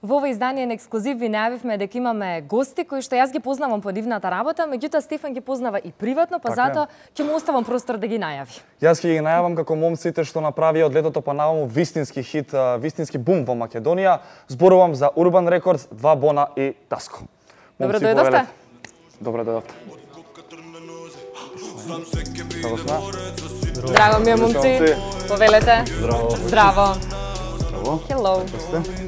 Во ова издание на ексклузив ви најавивме дека имаме гости кои што јас ги познавам по нивната работа, меѓутоа Стефан ги познава и приватно, па затоа ќе му оставам простор да ги најави. Јас ќе ги најавам како момците што направија од летото па наваму вистински хит, вистински бум во Македонија. Зборувам за Urban Records, Два Бона и Таско. Добро дојдовте. Добро дојдовте. Како сме? Драго ми е, момци. Повелете. Здраво. Здраво. Hello.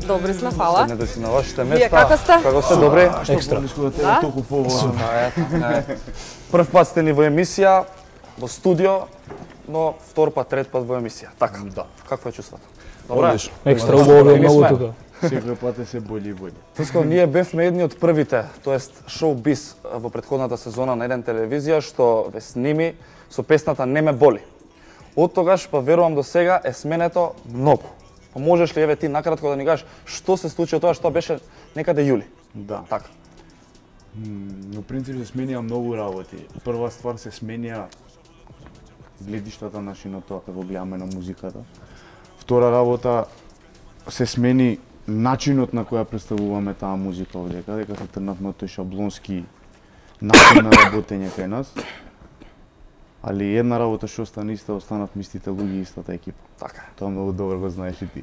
Добри сме, фала. Седнете си на вашите места. Вие како сте? Како сте, добри? Екстра. Да? Прв пат сте ни во емисија, во студио, но втор пат, трет пат во емисија. Така. Да. Какво е чувството? Добре. Екстра убаво е многу тука. Секој пат е се бољи и бољи. Туско, ние бевме едни од првите, тоест шоу-биз во претходната сезона на еден телевизија што ве сними со песната Не ме боли. Од тогаш, па верувам до сега, е сменето многу. Па можеш ли еве ти накратко да ни кажеш што се случи од тоа што беше некаде јули? Да. Така. Но принцип се сменија многу работи. Прва ствар се сменија гледиштата на тоа како гледаме на музиката. Втора работа се смени начинот на која представуваме таа музика овдека, дека се тргнавме од тој шаблонски начин на работење кај нас. Али една работа што остана иста, останав мистите луѓе и истата екипа. Така. Тоа многу добро го знаеш и ти.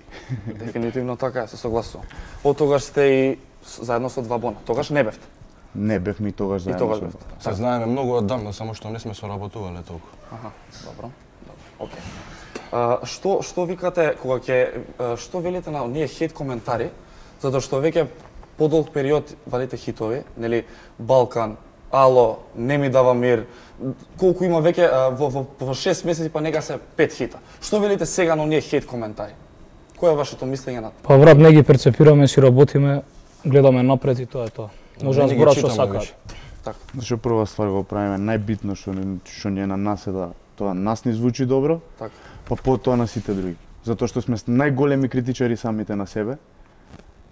Дефинитивно така е, се согласувам. Од тогаш сте и заедно со Два Бона. Тогаш не бевте. Не бевме и тогаш заедно. И тогаш со бевте. Се знаеме многу одамна, само што не сме соработувале толку. Аха, добро. Океј. Што викате кога што велите на оние хейт коментари, затоа што веќе подолг период валите хитови, нели Балкан, Ало, Не ми дава мир, колку има веќе во 6 месеци па нека се 5 хита. Што велите сега на оние хейт коментари? Кој е вашето мислење на тоа? Па брат, не ги перцепираме, си работиме, гледаме напред и тоа е тоа. Може да зборат што сакаат. Така. Зашто прва ствар го правиме, најбитно што ни е на нас е да тоа нас ни звучи добро, Така. па потоа на сите други. Затоа што сме најголеми критичари самите на себе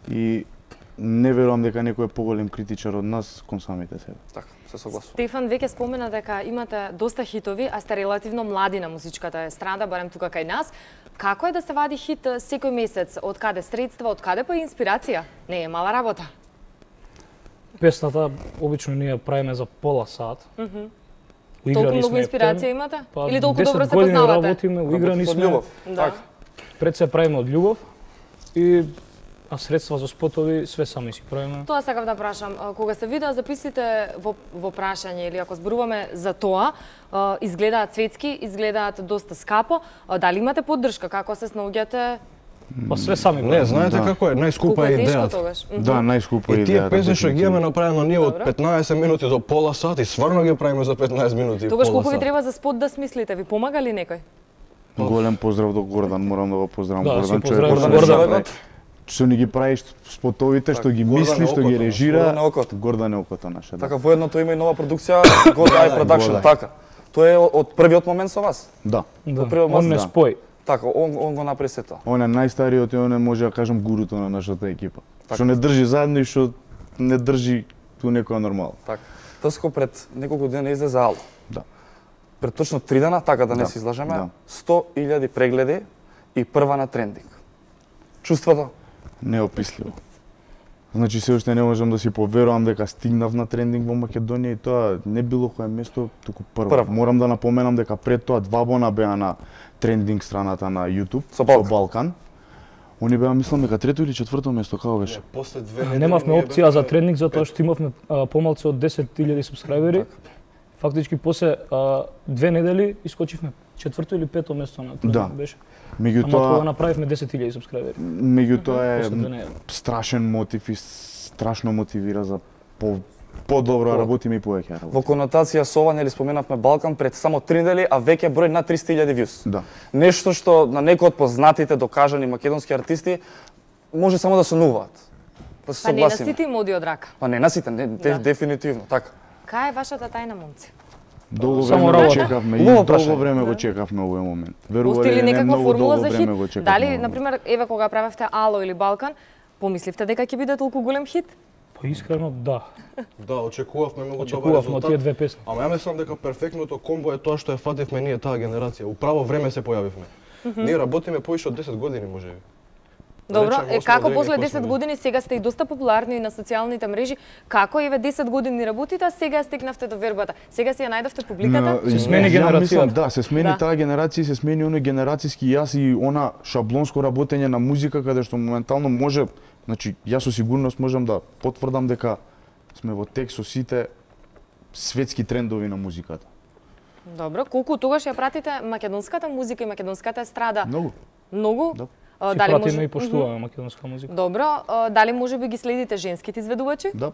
и не верувам дека некој е поголем критичар од нас кон самите себе. Така, се согласувам. Стефан веќе спомена дека имате доста хитови, а сте релативно млади на музичката естрада, барем тука кај нас. Како е да се вади хит секој месец? Од каде средства, од каде па инспирација? Не е мала работа. Песната обично ние правиме за пола сат. Толку многу инспирација имате? Или толку добро се познавате? 10 години работиме, уиграни Од сме. љубов. Да. Така. Пред се правиме од љубов а средства за спотови све сами си правиме. Тоа сакав да прашам. Кога се видеа записите во прашање или ако зборуваме за тоа, изгледаат светски, изгледаат доста скапо. Дали имате поддршка? Како се снаоѓате? Па све сами Не, правиме. знаете како е, најскупа е идејата. тогаш? Да, најскупа И тие идејата. песни што ги имаме направено ние од Добро. 15 минути до пола сат и стварно ги правиме за 15 минути. Тогаш пола колку ви сат. треба за спот да смислите? Ви помага ли некој? Голем поздрав до Гордан, морам да го поздравам Да, Гордан, си поздравам човекот Гордан. што ни ги прави спотовите, што ги Гордан мисли, е што ги окото, режира. Гордан е окото. Гордан е окото наше. Така, воедното има и нова продукција, God Eye Production, God Eye. така. Тоа е од првиот момент со вас. Да. Да, прво он не да. спои. Така, он го направи се тоа. Он е најстариот и он е, може да кажам, гуруто на нашата екипа. Така. Што не држи заедно и што не држи ту некоја нормала. Така. Тоско пред неколку дена излезе Ало. Да. Пред точно 3 дена, така да не Да, се излажеме, да. 100.000 прегледи и прва на трендинг. Чувството? Неописливо. Значи се уште не можам да си поверувам дека стигнав на трендинг во Македонија и тоа не било кое место, туку прво. Прво. Морам да напоменам дека пред тоа Два Бона беа на трендинг страната на YouTube Со Балкан. Балкан. Они беа мислам дека трето или четврто место, како беше? После 2 недели Немавме ние опција за бевме тренинг затоа што имавме помалку од 10.000 субскрајбери. Фактички после 2 недели искочивме четврто или пето место на тренинг Да. беше. Ама кога Меѓутоа, направивме 10.000 субскрајбери. меѓутоа После 2 е недели. страшен мотив и страшно мотивира за подобро да работиме и повеќе Во работиме. конотација со ова, нели споменавме Балкан пред само 3 недели, а веќе број на 300.000 views. Да. Нешто што на некои од познатите докажани македонски артисти може само да сонуваат. Да се Па не на согласиме. сите им оди од рака. Па не на сите, не, Да. дефинитивно, така. Кај е вашата тајна, момци? Долго Само време го работа. чекавме и Убаво долго прашање. време го Да. чекавме овој момент. Постои Верували ли или не, некаква многу формула долго за време хит? го чекавме. Дали, овој например, еве кога правевте Ало или Балкан, помисливте дека ќе биде толку голем хит? Па искрено да. Да, очекувавме многу добар Очекувавме од тие резултат. две песни. Ама ја мислам дека перфектното комбо е тоа што ја фативме ние таа генерација. Управо време се појавивме. Ние работиме повише од 10 години можеби. Добро, речем, како осмина после денега 10 години сега сте и доста популарни и на социјалните мрежи, како еве 10 години работите, а сега стекнавте до вербата? Сега си ја најдовте публиката? Се смени Ја генерацијата. мислам, да, се смени Да. таа генерација, се смени оној генерацијски јас и она шаблонско работење на музика каде што моментално може, значи јас со сигурност можам да потврдам дека сме во тек со сите светски трендови на музиката. Добро, колку тогаш ја пратите македонската музика и македонската естрада? Многу. Многу? Да. Си пратиме и поштуваме македонска музика. Добро, дали може би ги следите женските изведувачи? Да.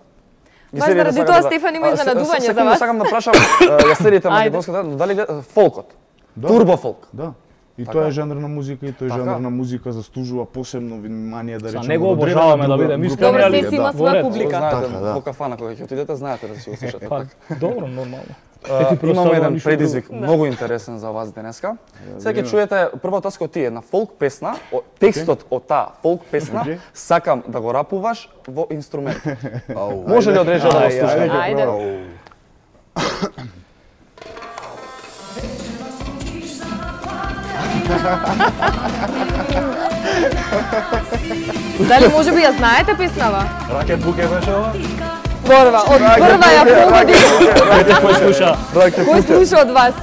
Баш заради тоа Стефан има изненадување за вас. Сакам да прашам, ја следите Ајде. македонската, но дали фолкот? Да. Турбо фолк. Да. И Така. тоа е жанр на музика и тој Така. жанр на музика заслужува посебно внимание да Са речеме. него од одредена обожаваме да група- бидеме група искрени, Добро, али се си има во своја ред. публика. Знаете, Така, да. во кафана кога ќе отидете, знаете да си го слушате. Па, добро, нормално. Имаме еден предизвик многу интересен за вас денеска. Сега ќе чуете прво таска ти една фолк песна, текстот од таа фолк песна Окей. сакам да го рапуваш во инструмент. Може ли одрежа да го слушаме? Ајде. Дали може би ја знаете песнава? Ракет буке беше ова? Борва, од прва ја погоди. Кој слуша Кој слуша од вас?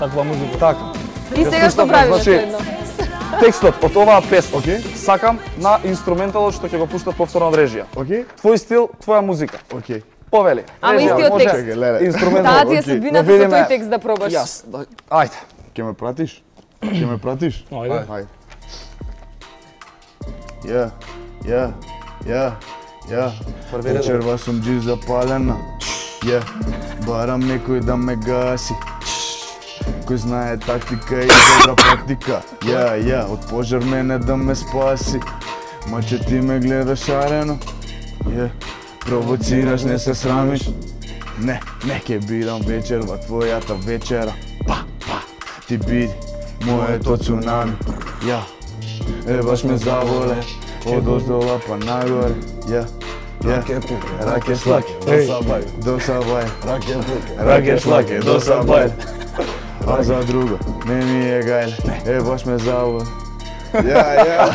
таква музика? Така. И сега што слушаме, правиме значи, следно? Текстот од оваа песна Окей. сакам на инструменталот што ќе го пуштат повторно од режија. Окей? Твој стил, твоја музика. Окей. Повели. Ама Режија, истиот може? текст. Чекај, леле. Инструментал. Таа ти е окей. судбината Да со видиме. тој текст да пробаш. Јас. Ајде. Ќе ме пратиш? Ќе ме пратиш? Ајде. Ајде. Ја, ја, ја, ја. Вечерва сум джив запалена. Ја, барам некој да ме гаси. Кој знае тактика и добра практика. Ја, од пожар мене да ме спаси. Маче ти ме гледаш шарено. Ја, провоцираш, не се срамиш. Не ќе бидам вечер во твојата вечера. Па, ти биди моето цунами. Ја, баш ме заволе, од оздола па нагоре. Ја, раке шлаке, до сабај. Раке шлаке, до сабај. А за друго, не ми е гајле, баш ме заволе. Ја.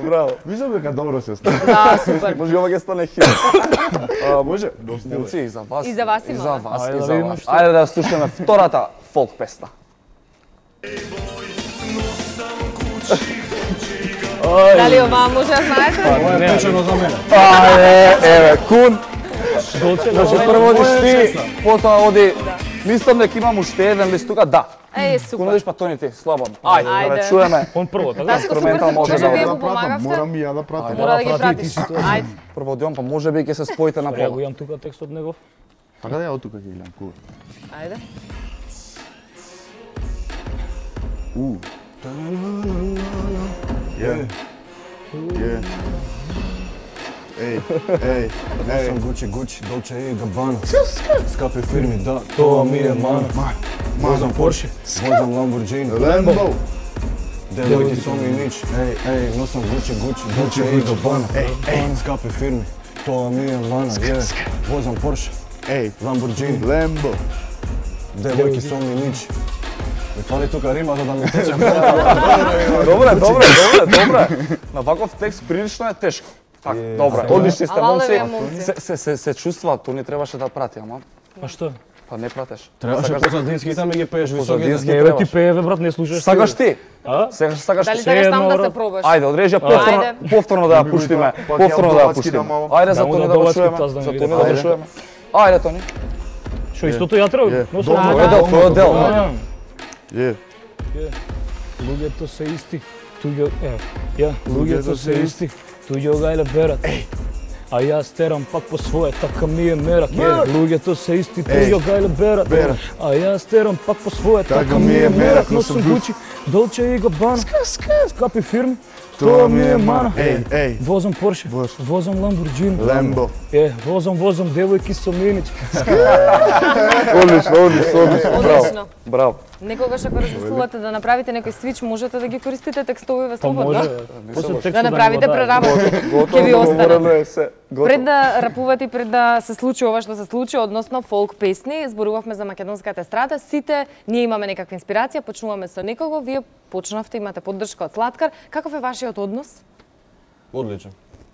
Браво. Мислам дека добро се става. Да, супер. Може ова ќе стане хит. Може? Момци, и за вас. И за вас И има. за вас, Ајде и да за видиме вас. што. Ајде да слушаме втората фолк песна. Дали оваа може да знаете? Ова е печено за мене. Еве, кун. Долче, Значи прво одиш ти, потоа оди. Мислам дека имам уште еден лист тука, да. Е, Кун супер. одиш па Тони ти, слободно. Ајде, да Ајде. ве чуеме. он прво, така? Таско, супер инструментал се може чува, да вие го му помагавте. Морам и ја да пратам. Мора да ги прати пратиш. ти си тоа. Ајде. Прво одиам, па може би ќе се споите на Ја го пола. имам тука текстот негов. Така да ја од тука ќе гледам, кур. Ајде. Ја. Ей. Носам Gucci, Dolce и Gabbana. Скапи фирми, да, тоа ми е мана. Возам Porsche, возам Lamborghini. Lambo. Девојки со ми нич, ей, носам Gucci, Dolce и Gabbana. Скапи фирми, тоа ми е мана. Возам Porsche, Ей, Lamborghini. Lambo. Девојки со ми нич. Ми фали тука рима за да ми тече. Добре. На ваков текст прилично е тешко. Така, добре, одлични сте Ала, момци. леле, момци. Се чувства, Тони требаше да прати, ама А што? па не пратеш. Требаше позадинските ми ги пееш високите. Позадински Еве ти требаш. пееве брат, не слушаш. Сакаш ти? А? Сега сакаш Дали ти? сакаш таму да едно, се пробаш? Ајде, одрежи Ајде. повторно да ја пуштиме. Пак Повторно да ја ја пуштиме. да мало. Ајде за Да му Тони да да го доласки чуеме. таз да ми За види. Тони да го Ајде. чуеме. Ајде Тони. Што истото ја треба? Е. Но Тоа Да, е дел, тоа е дел. А, Ја. Луѓето се исти, туѓо луѓето се исти, туѓо гајле берат. А јас терам пак по своје, така ми е мерак. Луѓето се исти, туѓо гајле берат. А јас терам пак по своје, така ми е мерак. Носам Gucci, Dolce и Gabbana. Скапи фирми, тоа ми е мана. Ей. Возам Porsche, возам Lamborghini. Lambo. Возам девојки со минич. Одлично. Браво. Одлично. Браво. Некогаш ако размислувате да направите некој свич, можете да ги користите текстовиве Па слободно. може, после текстот Да направите го преработка. Ќе ви остане. Пред да рапувате и пред да се случи ова што се случи, односно фолк песни, зборувавме за македонската естрада, сите ние имаме некаква инспирација, почнуваме со некого, вие почнавте, имате поддршка од Слаткар. Каков е вашиот однос? Одличен.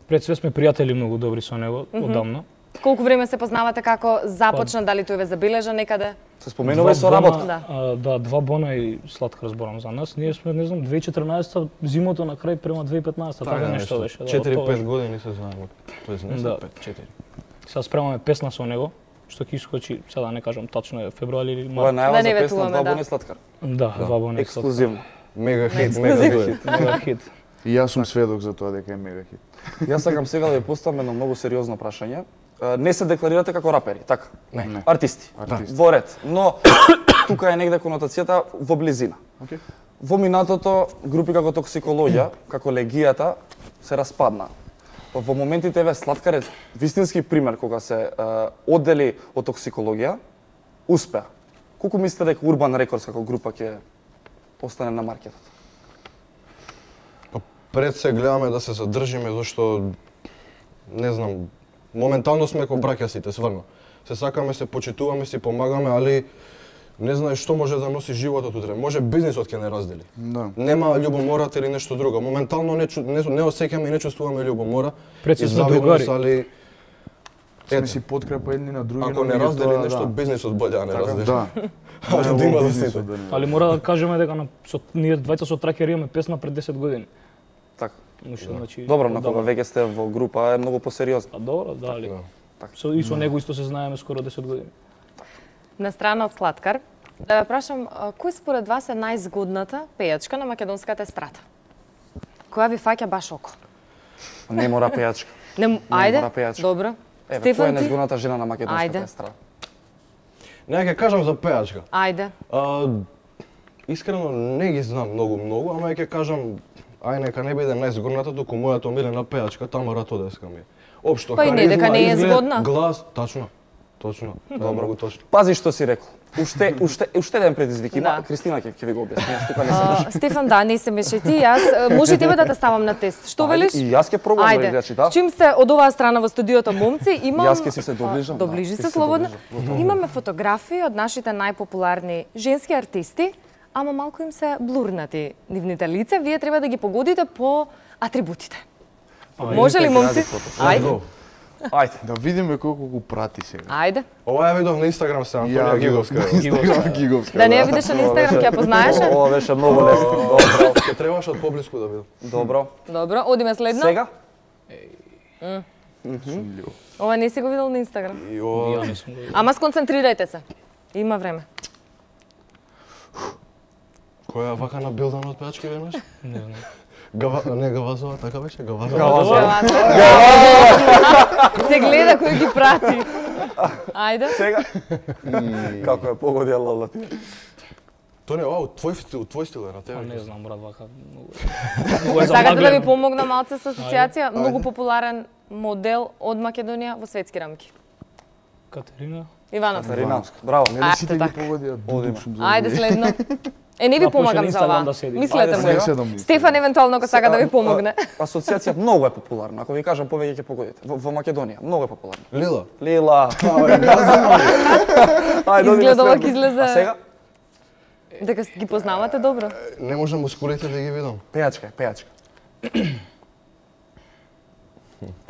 Пред све сме пријатели многу добри со него одамна. Колку време се познавате, како започна, дали тој ве забележа некаде? Се споменува и со работа. Да. 2 бона и Слаткар зборам за нас. Ние сме, не знам, 2014 зимото на крај према 2015 така нешто беше. 4-5 години се знаеме. Тоест не се 5, 4. Сега спремаме песна со него, што ќе искочи, сега да не кажам тачно е февруари или Ова е март. најава Да не за песна ветуваме, 2 да. бони Слаткар. Да, 2 бона и Слаткар. Ексклузивно. Мега хит, мега дует. Мега хит. И јас сум сведок за тоа дека е мега хит. Јас сакам сега да ви поставам едно многу сериозно прашање. Не се декларирате како рапери, така? Не. Артисти. Во ред. Но тука е негде конотацијата во близина. Океј. Во минатото групи како Токсикологија, како Легијата се распадна. Во моментите еве Слаткар е вистински пример кога се оддели од Токсикологија, успеа. Колку мислите дека Урбан Рекордс како група ќе остане на маркетот? Пред се гледаме да се задржиме зашто не знам, моментално сме како браќа сите, сврно. Се сакаме, се почитуваме, си помагаме, али не знаеш што може да носи животот утре. Може бизнисот ќе не раздели. Да. Нема љубомората или нешто друго. Моментално не осеќаме и не чувствуваме љубомора. Пред се и сме завидност, другари. али Сме си подкрепа едни на други. ако но не раздели меѓутоа, нешто, бизнисот боле да не раздели. Да. Али да има за сите. Али мора да кажеме дека ние двајца со Тракер имаме песна пред 10 години. Така. Значи, Добро, на кога веќе сте во група е многу посериозно. А добро, дали. Да. И со него исто се знаеме скоро 10 години. На страна од Слаткар, да ве прашам, кој според вас е најзгодната пејачка на македонската естрада? Која ви фаќа баш око? Не мора пејачка. Не, ајде, мора пејачка. добро. Еве, која Стефан, е ти? најзгодната жена на македонската Ајде. естрада? Не ќе кажам за пејачка. Ајде. Искрено не ги знам многу, ама ќе кажам ај нека не биде најзгодната, туку мојата омилена пејачка Тамара Тодеска ми. Општо Па и не, дека не е изглед, згодна. Глас, точно. Точно. Добро, точно. Пази што си рекол. Уште еден предизвик има. Да. Кристина ќе ви го објасни. Јас тука не се Стефан, да, не се мешај ти, јас може и тебе да те ставам на тест. Што велиш? И јас ќе пробам да Ајде. играчи, да. Чим сте од оваа страна во студиото, момци, имам... Јас ќе си се доближам, да. Доближи Ќе се се слободно. доближам. Имаме фотографии од нашите најпопуларни женски артисти, ама малку им се блурнати нивните лица. Вие треба да ги погодите по атрибутите. Може ли, момци? Ајде. Ајде. Да видиме колку го прати сега. Ајде. Ова ја видов на Инстаграм се Антонија Ја Гиговска. Гиговска. Да не ја видиш на Инстаграм, ќе ја познаеше? Ова беше многу лесно. Добро. Ке требаше од поблиску да видам. Добро. Добро, одиме следно. Сега? Ова не си го видел на Инстаграм. И ова Ја не сум го видел. Ама сконцентрирајте се. Има време. која вака на билдан од пејачки веднаш? Не знам. Не Гавазова, така беше? Гавазова. Гавазова. Се гледа кој ги прати. Ајде. Сега? Како е погодила Латина? Тони, ова твој стил е на тебе. Па не знам, брат, вака многу е Сакате да ви замаглено. помогна малце со асоциација? Многу популарен модел од Македонија во светски рамки. Катерина. Ивановска. Тарина, браво. Нели сите ги така. погодија дудук сум за. Ајде следно. Е, не ви Да, почне помагам на за Инстаграм ова. да седи. Мислете Ајде, му. сега. Седам ни. Стефан евентуално ако сака да ви помогне. Асоциација многу е популарна. Ако ви кажам повеќе ќе погодите. Во Македонија многу е популарна. Лила. Лила. Ајде, Изгледа овак излезе. А сега? Дека ги познавате добро. Не можам мускулите да ги видам. Пејачка, пејачка.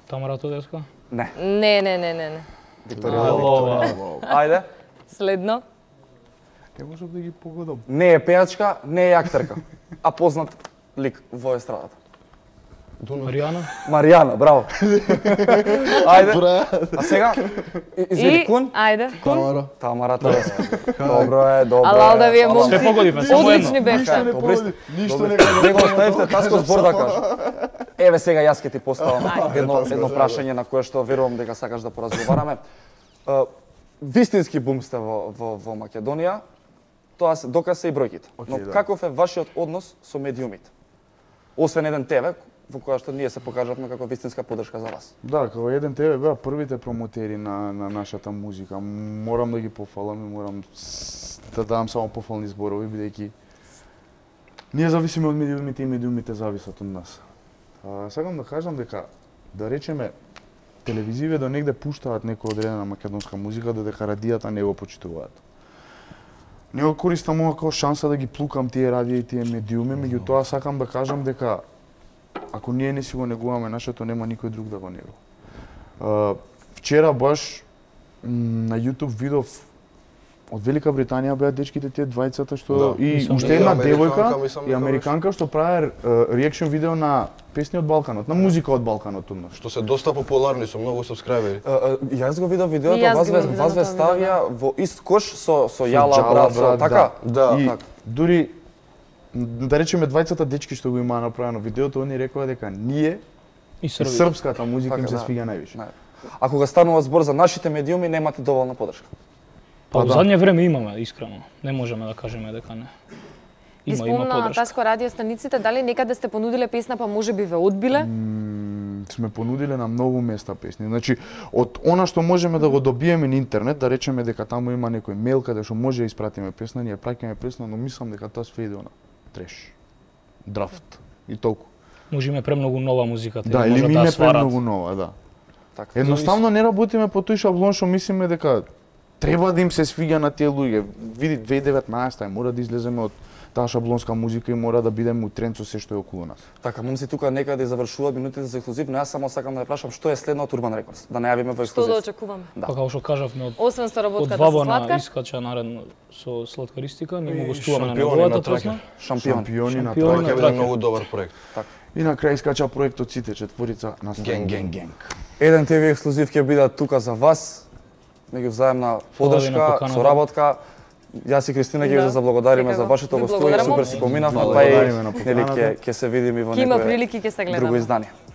Тамара Тодеска. Не. Не. Викторија. Ова. Ајде. Следно. Не можам да ги погодам. Не е пејачка, не е актерка, а познат лик во естрадата. Маријана. Маријана, браво. Ајде. А сега? Извини, Кун? Ајде. Тамара. Тамара Тодеска. Добро е, добро е. Алал да ви е Алал. момци. Се погодивме, само Одлични едно. бевте. Добри сте. Ништо Добри не сте. Него оставивте таско збор да кажа. Еве сега јас ќе ти поставам едно прашање на кое што верувам дека сакаш да поразговараме. Вистински бум сте во Македонија. Тоа доказ се и бројките. Но да. каков е вашиот однос со медиумите? Освен еден тебе, во која што ние се покажавме како вистинска поддршка за вас. Да, како еден тебе беа првите промотери на нашата музика. Морам да ги пофалам и морам да дадам само пофални зборови, бидејќи ние зависиме од медиумите и медиумите зависат од нас. Сакам да кажам дека, да речеме, телевизиве до негде пуштаат некоја одредена македонска музика, додека радијата не го почитуваат. Не го користам ова како шанса да ги плукам тие радији и тие медиуми, меѓутоа сакам да кажам дека ако ние не си го негуваме нашето, нема никој друг да го негува. Вчера баш на YouTube видов од Велика Британија беа дечките тие двајцата што и уште една девојка и американка што правеа реакшн видео на песни од Балканот, на музика од Балканот од нас. Што се доста популарни, со многу сабскрајбери. Јас го видов видеото, вас ве ставија во ист кош со Јала брат, со така? И дури да речеме двајцата дечки што го имаа направено видеото, они рекоа дека ние и српската музика им се свиѓа највише. А кога станува збор за нашите медиуми, немате доволна поддршка. Па во задње време имаме, искрено. Не можеме да кажеме дека не. Има поддршка. Таско радиостаниците, дали некаде сте понудиле песна, па можеби ве одбиле? Сме понудиле на многу места песни. Значи, од она што можеме да го добиеме на интернет, да речеме дека таму има некој мејл каде што може да испратиме песна, ние праќаме песна, но мислам дека тоа све иде на треш, драфт и толку. Можеме премногу нова музика, да, или ми не премногу нова, да. Така. Едноставно не работиме по тој шаблон што мислиме дека треба да им се свиѓа на тие луѓе. Види 2019 мора да излеземе од таа шаблонска музика и мора да бидеме у тренд со се што е околу нас. Така, момци тука некаде завршуваат минутите за ексклузив, но јас само сакам да ја прашам што е следно од Urban Records, да најавиме во ексклузив. Што да очекуваме? Па како што кажавме, освен соработката со Сладкар, од Вабана искача наредно со Сладкаристика, ние му гостуваме на неговата песна. Шампиони на Тоа траке. е многу добар проект. И на крај искача проектот сите четворица на Генг. Еден ТВ ексклузив ќе биде тука за вас. Меѓувзаемна поддршка, соработка. Јас и Кристина ќе ви заблагодариме за вашето гостување, супер си поминавме, па и нели ќе се видиме во некое друго издание.